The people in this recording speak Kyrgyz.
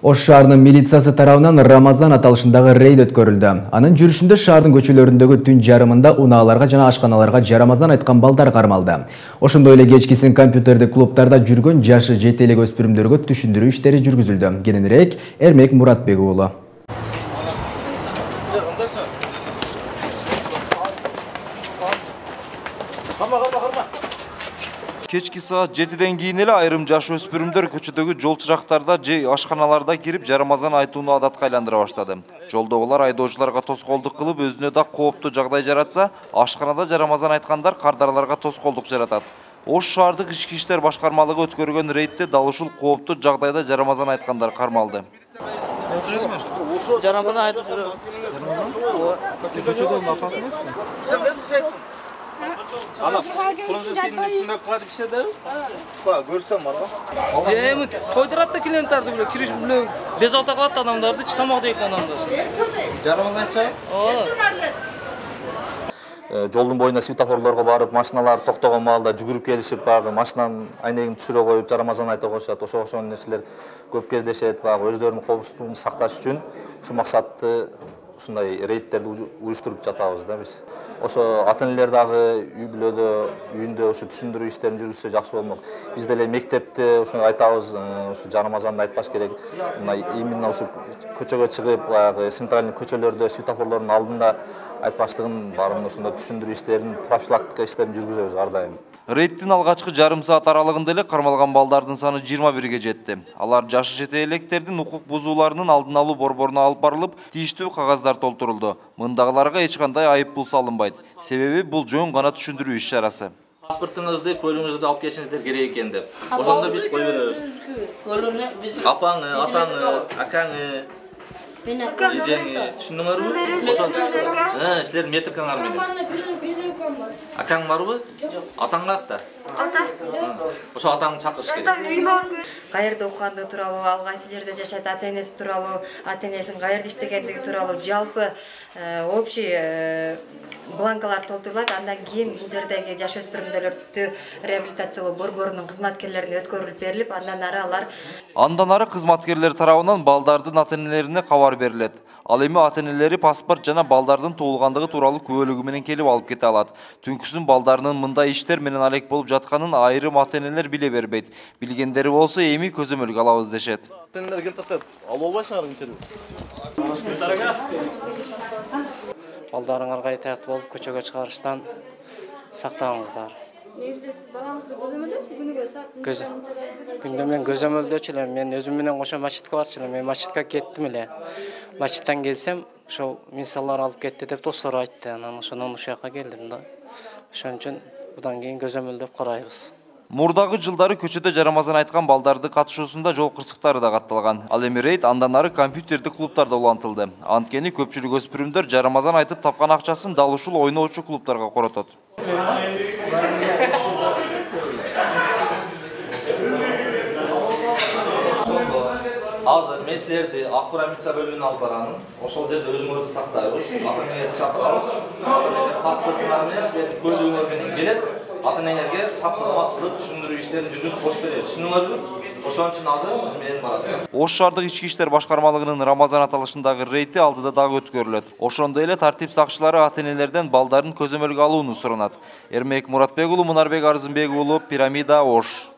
Ош шаарынын милициясы тарабынан Рамазан аталышындагы рейд өткөрүлдү. Анын жүрүшүндө шаардын көчөлөрүндөгү түн жарымында унааларга жана ашканаларга жарамазан айткан балдар кармалды. Ошондой эле кечкисин компьютердик клубтарда жүргөн жашы жете элек өспүрүмдөргө түшүндүрүү иштери жүргүзүлдү. Кененирээк Эрмек Муратбек уулу. Кечки саат 7-ден кийин эле айрым жаш өспүрүмдөр көчөдөгү жол чырактарда же ашканаларда кирип жарамазан айтууну адатка айландыра баштады. Жолдогулар айдоочуларга тоскоолдук кылып, өзүнө да кооптуу жагдай жаратса, ашканада жарамазан айткандар кардарларга тоскоолдук жаратат. Ош шаардык ички иштер башкармалыгы өткөргөн рейдте дал ушул кооптуу жагдайда жарамазан айткандар кармалды. Жарамазан айтып жүрөм. Көчөдөн атасы эмеспи? Көрсөм барбы? Эми тойдурат да клиенттарды биле кириш биле безалта кылат адамдарды, тамак жейт адамдар. Жарамазан айтча? Жолдун боюна светофорлорго барып, машиналар токтогон маалда жүгүрүп келишип, багы машинанын айнегин түшүрө коюп, жарамазан айта коюшат. Ошол нерселер көп кездешет, багы өздөрүнүн коопсуздугун сакташ үчүн ушу максатты ушундай рейдтерди уюштуруп жатабыз да биз. Ошо ата-энелер дагы үй бүлөдө, үйүндө ушу түшүндүрүү иштерин жүргүзсө жакшы болмок. Биз деле мектепте ушуну айтабыз, ушу жарамазанды айтпаш керек. Мына именно ушу көчөгө чыгып, баягы центральный көчөлөрдө светофорлордун алдында айтпаштыгын баарын ошондо түшүндүрүү иштерин, профилактика иштерин жүргүзөбүз ар дайым. Рейдтин алгачкы жарым саат аралыгында эле кармалган балдардын саны 21 жетти. Алар жашы жете электердин укук бузууларынын алдын алуу борборуна алып барылып, тийиштүү кагаздар толтурулду. Мындагыларга эч кандай айып пул салынбайт. Себеби бул жөн гана түшүндүрүү иш чарасы. Паспортуңузду, көлүгүңүздү алып келишиңиздер керек экен деп. Ошондо биз кой беребиз. Көлүнү биз Апаңы, атаңы, акаңы, эжеңи түшүндүңөрбү? Силердин метрикаңар менен. Акаң барбы? Атаң каякта? Ошо атаңды чакырыш керек. Каерде окугандыгы тууралуу, ал кайсы жерде жашайт, ата-энеси тууралуу, ата-энесинин каерде иштегендиги тууралуу жалпы общий бланкалар толтурулат. Андан кийин бул жердеги жаш өспүрүмдөрдү реабилитациялоо борборунун кызматкерлерине өткөрүлүп берилип, андан ары кызматкерлер тарабынан балдардын ата-энелерине кабар берилет. Ал эми ата-энелери паспорт жана балдардын туулгандыгы тууралуу күбөлүгү менен келип алып кете алат. Түнкүсүн балдарынын мындай иштер менен алек болуп жатканын айрым ата-энелер биле бербейт. Билгендери болсо эми көзөмөлгө алабыз дешет. Ата-энелер келип тастап, алып албайсыңар интервью. Балдарыңарга этаат болуп көчөгө чыгарыштан сактаңыздар. Балаңызды көзөмөлдөсүзбү күнүгө саат? Күндө мен көзөмөлдөчү элем. Мен өзүм менен кошо мачитке барчу элем. Мен мачитке кеттим эле. Мачиттен келсем, ошо мисаллар алып кетти деп достор айтты. Анан ошондон ушул жака келдим да. Ошон үчүн будан кийин көзөмөлдөп карайбыз. Мурдагы жылдары көчөдө жарамазан айткан балдардын катышуусунда жол кырсыктары да катталган. Ал эми рейд андан ары компьютердик клубтарда улантылды. Анткени көпчүлүк өспүрүмдөр жарамазан айтып тапкан акчасын дал ушул ойноочу клубтарга коротот. Азыр мен силерди Акбура милиция бөлүмүнө алып барамын. Ошол жерде өзүңөрдү тактайбыз. Ата-энеңерди чакырабыз. Ата-энеңер паспортуңар менен силердин көлүгүңөр менен келет. Ата-энеңерге сап-саламат кылып түшүндүрүү иштерин жүргүзүп коюш беребиз. Түшүндүңөрбү? Ошон үчүн азыр биз менен барасыздар. Ош шаардык ички иштер башкармалыгынын Рамазан аталышындагы рейди алдыда дагы өткөрүлөт. Ошондой эле тартип сакчылары ата-энелерден балдарын көзөмөлгө алууну суранат. Эрмек Муратбек уулу, Мунарбек Арзымбек уулу, Пирамида, Ош.